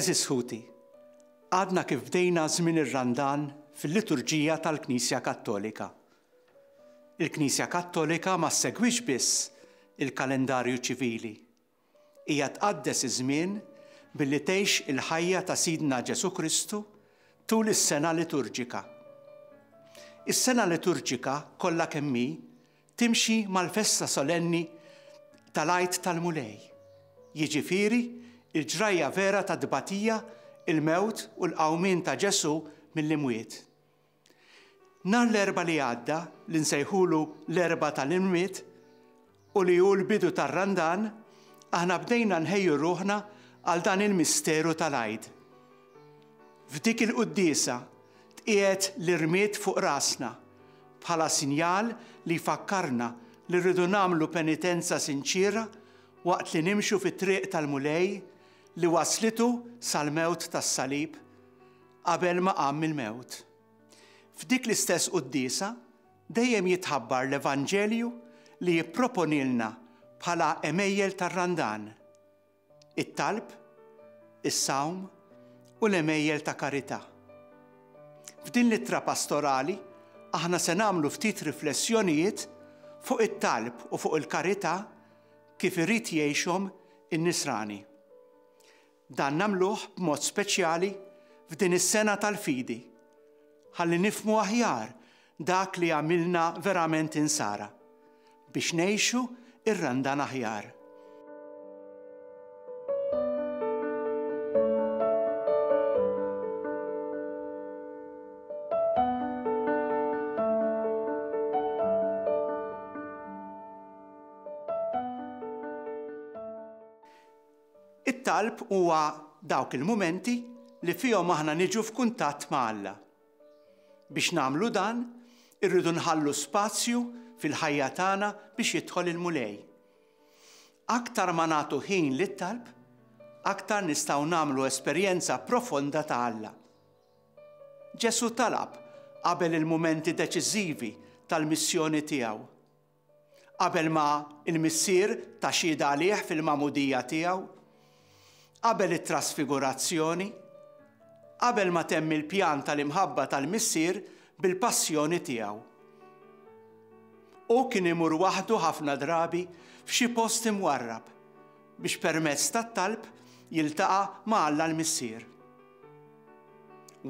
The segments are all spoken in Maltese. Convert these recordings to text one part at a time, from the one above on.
Għeżież ħuti, għadna kif bdejna żmien ir-Randan fil-liturġija tal-Knisja Kattolika. Il-Knisja Kattolika ma ssegwix biss il-kalendarju ċivili. Hija tqaddes iż-żmien billi tgħix il-ħajja ta' Sidna Ġesù Kristu tul is-sena liturġika. Is-sena liturġika kollha kemm hi timxi mal-festa solenni tal-Għid tal-Mulej, jiġifieri l-ġrajja vera tat-tbatija, il-mewt u l-qawmien ta' Ġesù mill-imwiet. Nhar l-Erbgħa li għadda, li nsejħulu l-Erbgħa tal-Imwiet, u li hu l-bidu tar-Randan, aħna bdejna nħejju ruħna għal dan il-misteru tal-Għid. F'dik il-quddiesa tqiegħed l-irmied fuq rasna bħala sinjal li jfakkarna li rridu nagħmlu penitenza sinċiera waqt li nimxu fit-triq tal-Mulej li wasslitu sal-mewt tas-salib qabel ma qam mill-mewt. F'dik l-istess quddiesa dejjem jitħabbar l-Evanġelju li jipproponilna bħala għemejjel tar-Randan, it-talb, is-sawm u l-għemejjel ta' karità. F'din l-ittra pastorali aħna se nagħmlu ftit riflessjonijiet fuq it-talb u fuq il-karità kif irid jgħixhom in-Nisrani. Dan nagħmluh b'mod speċjali f'din is-sena tal-fidi, ħalli nifhmu aħjar dak li jagħmilna verament Insara, biex ngħixu r-Randan aħjar. It-talb huwa dawk il-mumenti li fihom aħna niġu f'kuntatt ma' Alla. Biex nagħmlu dan, irridu nħallu spazju fil-ħajja tagħna biex jidħol il-Mulej. Aktar ma nagħtu ħin lit-talb, aktar nistgħu nagħmlu esperjenza profonda ta' Alla. Ġesù talab qabel il-mumenti deċiżivi tal-missjoni tiegħu. Qabel ma l-Missier ta xhieda għalih fil-magħmudija tiegħu, qabel it-trasfigurazzjoni, qabel ma temm il-pjan tal-imħabba tal-Missier bil-passjoni tiegħu. Hu kien imur waħdu ħafna drabi f'xi post imwarrab biex permezz tat-talb jiltaqa' ma' Alla l-Missier.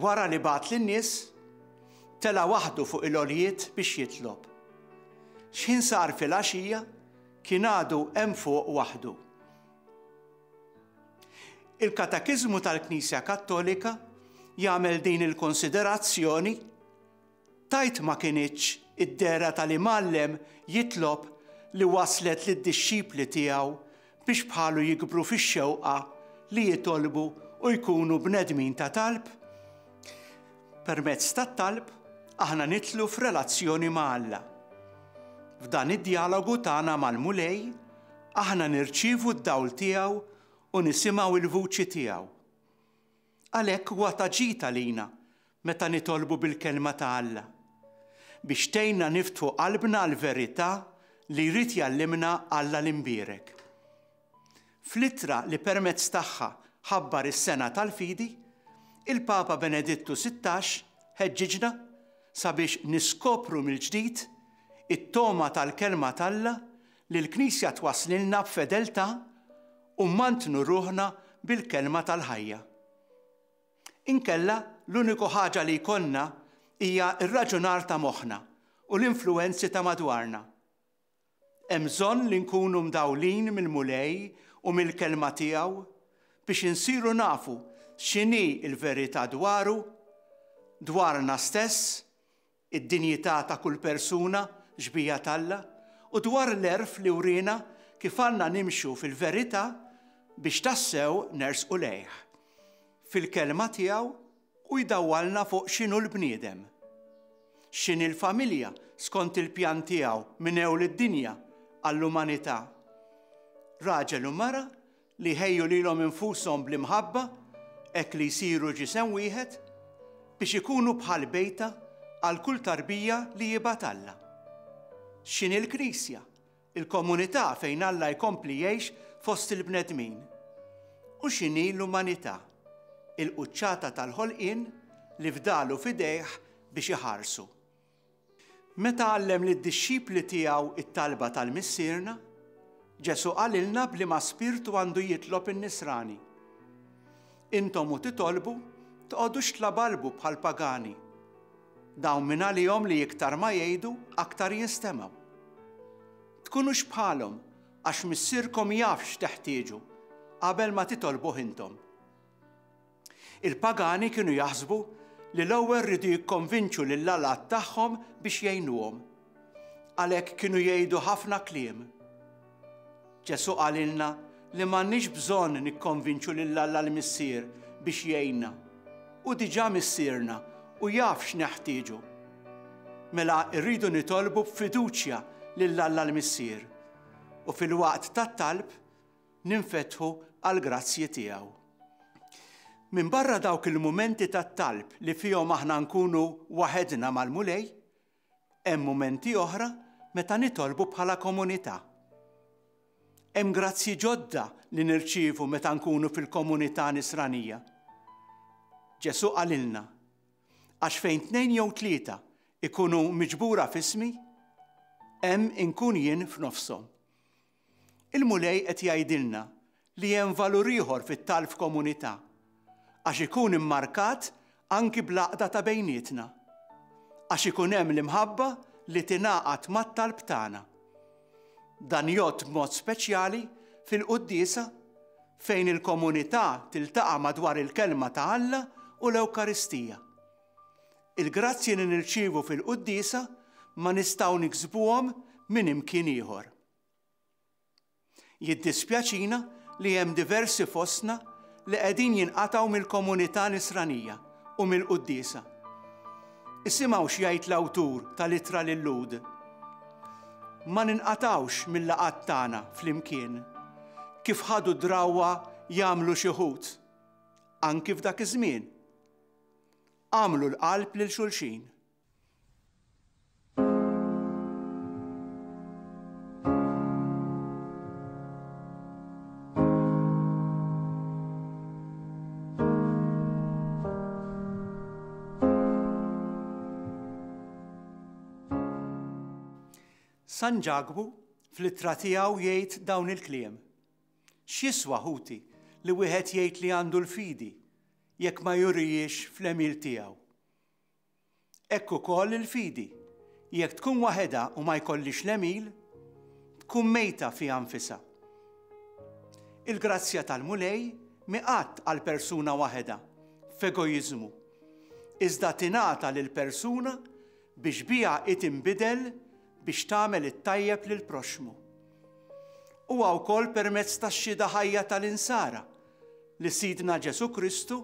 Wara li bagħat lin-nies, tela' waħdu fuq il-għoljiet biex jitlob. X'ħin sar filgħaxija, kien għadu hemm fuq waħdu. Il-Katekiżmu tal-Knisja Kattolika jagħmel din il-konsiderazzjoni Tgħid ma kinitx id-dehra tal-Imgħallem jitlob li wasslet lid-dixxipli tiegħu biex bħalu jikbru fix-xewqa li jitolbu u jkunu bnedmin ta' talb? Permezz tat-talb, aħna nidħlu f'relazzjoni ma' Alla. F'dan id-djalogu tagħna mal-Mulej, aħna nirċievu d-dawl tiegħu u nisimgħu l-vuċi tiegħu. Għalhekk huwa ta' ġid għalina meta nitolbu bil-Kelma ta' Alla, biex tgħinna niftħu qalbna għall-verità li jrid jgħallimna Alla l-Imbierek. Fl-ittra li permezz tagħha ħabbar is-Sena tal-Fidi, il-Papa Benedittu 16 ħeġġiġna sabiex niskopru mill-ġdid it-togħma tal-Kelma t'Alla li l-Knisja twasslilna b'fedeltà u mmantnu ruħna bil-Kelma tal-ħajja. Inkella l-uniku ħaġa li jkollna hija r-raġunar ta' moħħna u l-influwenzi ta' madwarna. Hemm bżonn li nkunu mdawlin mill-Mulej u mill-Kelma tiegħu biex insiru nafu x'inhi l-verità dwaru, dwarna stess, id-dinjità ta' kull persuna, xbieha t'Alla, u dwar l-għerf li wriena kif għandna nimxu fil-verità biex tassew nersqu lejh. Fil-Kelma tiegħu hu jdawwalna fuq x'inhu l-bniedem. X'inhi l-familja skont il-pjan tiegħu minn ewl id-dinja għall-umanità. Raġel u mara li jħejju lilhom infushom bl-imħabba hekk li jsiru ġisem wieħed, biex ikunu bħal bejta għal kull tarbija li jibgħat Alla. X'inhi l-Knisja? Il-komunità fejn Alla jkompli jgħix fost il-bnedmin. U x'inhi l-umanità? il-quċċata tal-ħolqien li fdalu f'idejh biex iħarsu. Meta għallem lid-dixxipli tiegħu t-talba tal-Missierna, Ġesù qalilna b'liema spirtu għandu jitlob in-Nisrani. Intom u titolbu, toqgħodux tlabalbu bħall-pagani. Dawn mingħalihom li iktar ma jgħidu, aktar jinstemgħu. Tkunux bħalhom, għax Missierkom jaf x'teħtieġu, qabel ma titolbuh intom. Il-pagani kienu jaħsbu li l-ewwel riedu jikkonvinċu lill-allat tagħhom biex jgħinuhom. Għalhekk kienu jgħidu ħafna kliem. Ġesù qalilna li m'għandniex bżonn nikkonvinċu lil Alla l-Missier biex jgħinna. Hu diġà Missierna u jaf x'neħtieġu. Mela rridu nitolbu b'fiduċja lil Alla l-Missier u filwaqt tat-talb ninfetħu għall-grazzji tiegħu. Minbarra dawk il-mumenti tat-talb li fihom aħna nkunu waħedna mal-Mulej, hemm mumenti oħra meta nitolbu bħala komunità. Hemm grazzji ġodda li nirċievu meta nkunu fil-komunità nisranija. Ġesù qalilna, Għax fejn tnejn jew tlieta ikunu miġbura f'ismi, hemm inkun jien f'nofshom. Il-Mulej qed jgħidilna li hemm valur ieħor fit-talb f'komunità, għax ikun immarkat anki bl-għaqda ta' bejnietna. Għax ikun hemm l-imħabba li tingħaqad mat-talb tagħna. Dan jgħodd b'mod speċjali fil-quddiesa fejn il-komunità tiltaqa' madwar il-Kelma ta' Alla u l-Ewkaristija. Il-grazzji li nirċievu fil-quddiesa ma nistgħu niksbuhom minn imkien ieħor. Jiddispjaċina li hemm diversi fostna li qegħdin jinqatgħu mill-komunità nisranija u mill-quddiesa. Isimgħu x'jgħid l-awtur tal-Ittra lil-Lhud, Ma ninqatgħux mil-laqgħat tagħna flimkien, kif ħadu d-drawwa jagħmlu xi wħud, anki f'dak iż-żmien. Agħmlu l-qalb lil xulxin. San Ġakbu fl-ittra tiegħu jgħid dawn il-kliem. X'jiswa ħuti li wieħed jgħid li għandu l-fidi jekk ma jurijiex fl-għemil tiegħu? Hekk ukoll il-fidi, jekk tkun waħedha u ma jkollhiex l-għemil, tkun mejta fiha nfisha. Il-grazzja tal-Mulej mhi qatt għal persuna waħedha, f'egoiżmu, iżda tingħata lil persuna biex biha hi tinbidel biex tagħmel it-tajjeb lill-proxxmu. Huwa wkoll permezz tax-xhieda ħajja tal-insara li Sidna Ġesù Kristu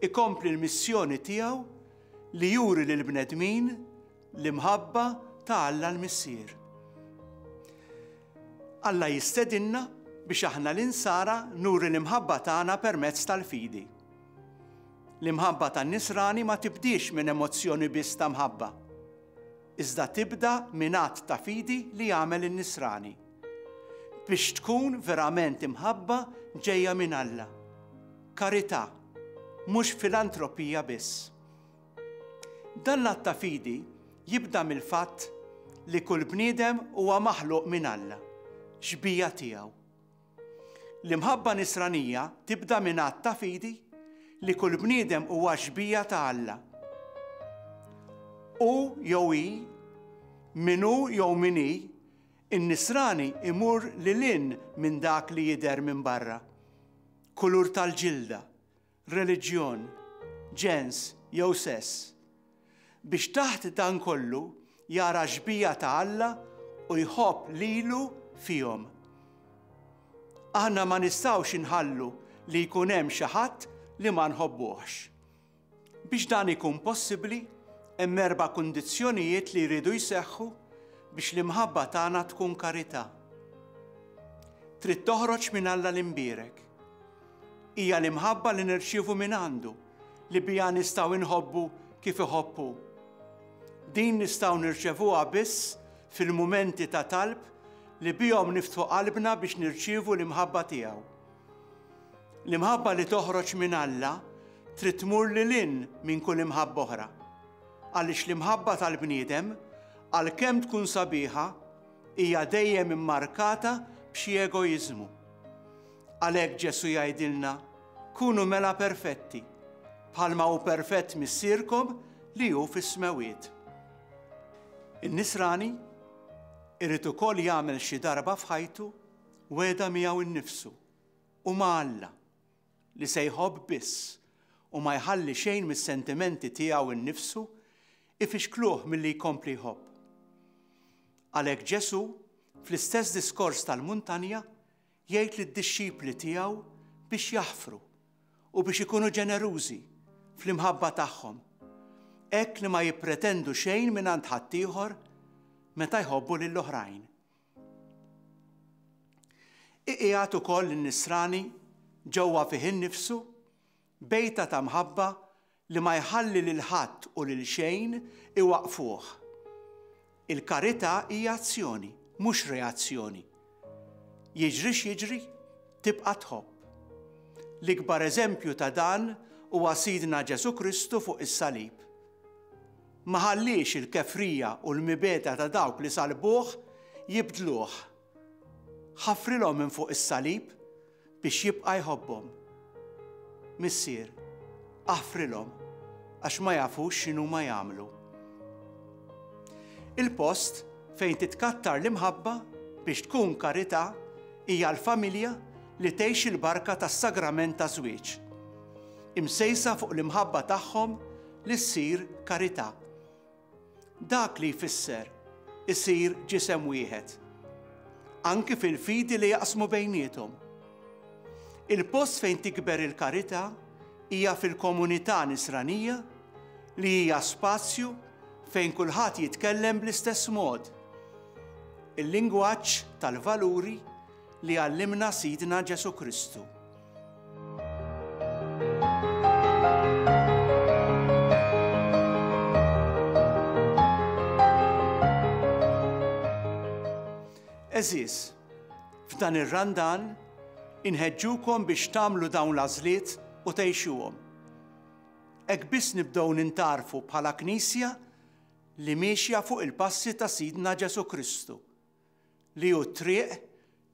ikompli l-missjoni tiegħu li juri lill-bnedmin l-imħabba ta' Alla l-Missier. Alla jistedinna biex aħna l-insara nuri l-imħabba tagħna permezz tal-fidi. L-imħabba tan-nisrani ma tibdiex minn emozzjoni biss ta' mħabba, iżda tibda minn att ta' fidi li jagħmel in-nisrani. Biex tkun verament imħabba ġejja minn Alla. Karità, mhux filantropija biss. Dan l-att ta' fidi jibda mill-fatt li kull bniedem huwa maħluq minn Alla, xbieha tiegħu. L-imħabba nisranija tibda minn att ta' fidi li kull bniedem huwa xbieha ta' Alla. Hu jew hi, min hu jew min hi, in-nisrani imur lil hinn minn dak li jidher minn barra. Kulur tal-ġilda, reliġjon, ġens jew sess. Biex taħt dan kollu jara x-xbieha ta' Alla u jħobb lilu fihom. Aħna ma nistgħux inħallu li jkun hemm xi ħadd li ma nħobbuhx. Biex dan ikun possibbli, hemm erb'a kundizzjonijiet li jridu jseħħu biex l-imħabba tagħna tkun karità. Trid toħroġ minn Alla l-Imbierek. Hija l-imħabba li nirċievu mingħandu li biha nistgħu nħobbu kif iħobb hu. Din nistgħu nirċevuha biss fil-mumenti ta' talb li bihom niftħu qalbna biex nirċievu l-imħabba tiegħu. L-imħabba li toħroġ minn Alla. trid tmur lil hinn minn kull imħabba oħra. Għaliex l-imħabba tal-bniedem, għalkemm tkun sabiħa, hija dejjem immarkata b'xi egoiżmu. Għalhekk Ġesù jgħidilna, Kunu mela perfetti, bħalma hu perfett Missierkom li hu fis-smewwiet. In-Nisrani irid ukoll jagħmel xi darba f'ħajtu wegħda miegħu nnifsu u ma' Alla li se jħobb biss u ma jħalli xejn mis-sentimenti tiegħu nnifsu ifixkluh milli jkompli jħobb. Għalhekk Ġesù, fl-istess diskors tal-muntanja, jgħid lid-dixxipli tiegħu biex jaħfru u biex ikunu ġenerużi fl-imħabba tagħhom, hekk li ma jippretendu xejn mingħand ħaddieħor meta jħobbu lill-oħrajn. Iqiegħed ukoll lin-Nisrani ġewwa fih innifsu bejta ta' mħabba li ma jħalli lil ħadd u lil xejn iwaqqfuh. Il-karità hija azzjoni, mhux reazzjoni. Jiġri x'jiġri, tibqa' tħobb. L-ikbar eżempju ta' dan huwa Sidna Ġesù Kristu fuq is-salib. Ma ħalliex il-kefrija u l-mibegħda ta' dawk li sallbuh jibdluh. Ħafrilhom minn fuq is-salib biex jibqa' jħobbhom. Missier, aħfrilhom għax ma jafux x'inhuma jagħmlu. Il-post fejn titkattar l-imħabba biex tkun karità hija l-familja li tgħix il-barka tas-sagrament taż-żwieġ, imsejsa fuq l-imħabba tagħhom li ssir karità. Dak li jfisser isir ġisem wieħed, anki fil-fidi li jaqsmu bejniethom. Il-post fejn tikber il-karità hija fil-komunità nisranija li hija spazju fejn kulħadd jitkellem bl-istess mod, il-lingwaġġ tal-valuri li għallimna Sidna Ġesù Kristu. Għeżież, f'dan ir-Randan inħeġġukom biex tagħmlu dawn l-għażliet u tgħixuhom. Hekk biss nibdew nintgħarfu bħala Knisja li miexja fuq il-passi ta' Sidna Ġesù Kristu, li hu t-triq,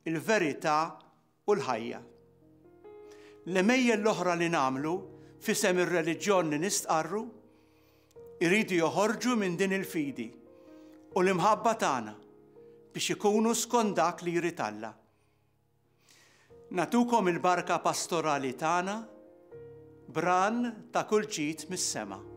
il-verità u l-ħajja. L-għemejjel l-oħra li nagħmlu f'isem ir-reliġjon li nistqarru jridu joħorġu minn din il-fidi u l-imħabba tagħna biex ikunu skont dak li jrid Alla. Nagħtukom il-barka pastorali tagħna b'ran ta' kull ġid mis-sema.